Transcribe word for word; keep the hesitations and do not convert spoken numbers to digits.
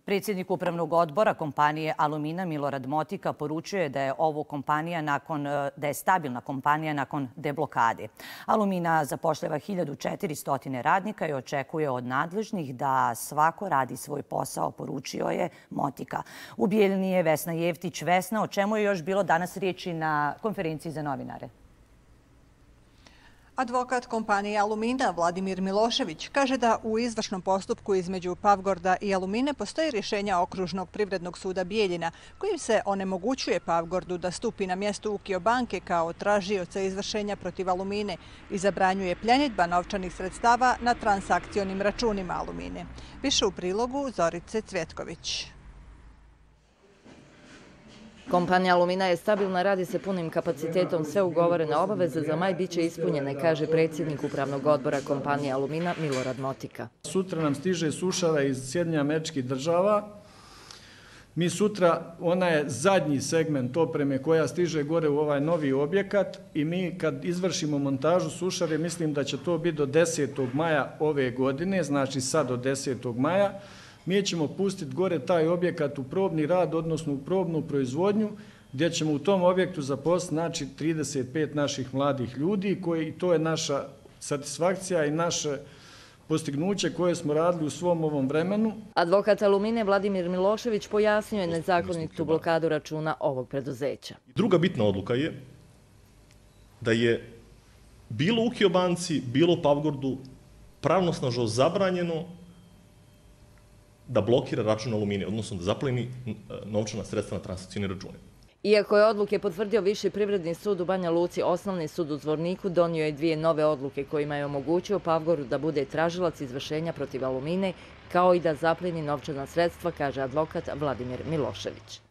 Predsjednik upravnog odbora kompanije Alumina Milorad Motika poručuje da je ovo kompanija nakon, da je stabilna kompanija nakon deblokade. Alumina zapošljava hiljadu četiristo radnika i očekuje od nadležnih da svako radi svoj posao, poručio je Motika. U Bijeljini je Vesna Jevtić. Vesna, o čemu je još bilo danas riječi na konferenciji za novinare? Advokat kompanije Alumina Vladimir Milošević kaže da u izvršnom postupku između Pavgorda i Alumine postoji rješenja Okružnog privrednog suda Bijeljina kojim se onemogućuje Pavgordu da stupi na mjesto Ukio banke kao tražioca izvršenja protiv Alumine i zabranjuje pljenidba novčanih sredstava na transakcionim računima Alumine. Više u prilogu Zorice Cvjetković. Kompanija Alumina je stabilna, radi se punim kapacitetom, sve ugovorene obaveze za maj bit će ispunjene, kaže predsjednik upravnog odbora kompanije Alumina Milorad Motika. Sutra nam stiže sušara iz Sjedinjenih Američkih Država. Mi sutra, ona je zadnji segment opreme koja stiže gore u ovaj novi objekat i mi kad izvršimo montažu sušare, mislim da će to biti do desetog maja ove godine, znači sad do desetog maja. Mi ćemo pustiti gore taj objekat u probni rad, odnosno u probnu proizvodnju, gdje ćemo u tom objektu zaposliti znači, trideset pet naših mladih ljudi, koji, to je naša satisfakcija i naše postignuće koje smo radili u svom ovom vremenu. Advokat Alumine Vladimir Milošević pojasnio je nezakonitu blokadu računa ovog preduzeća. Druga bitna odluka je da je bilo Ukio banci, bilo Pavgordu pravnosnažno zabranjeno da blokira račun Alumine, odnosno da zapleni novčana sredstva na transakcijne račune. Iako je odluke potvrdio Viši privredni sud u Banja Luci, Osnovni sud u Zvorniku donio je dvije nove odluke kojima je omogućio Pavgordu da bude tražilac izvršenja protiv Alumine, kao i da zapleni novčana sredstva, kaže advokat Vladimir Milošević.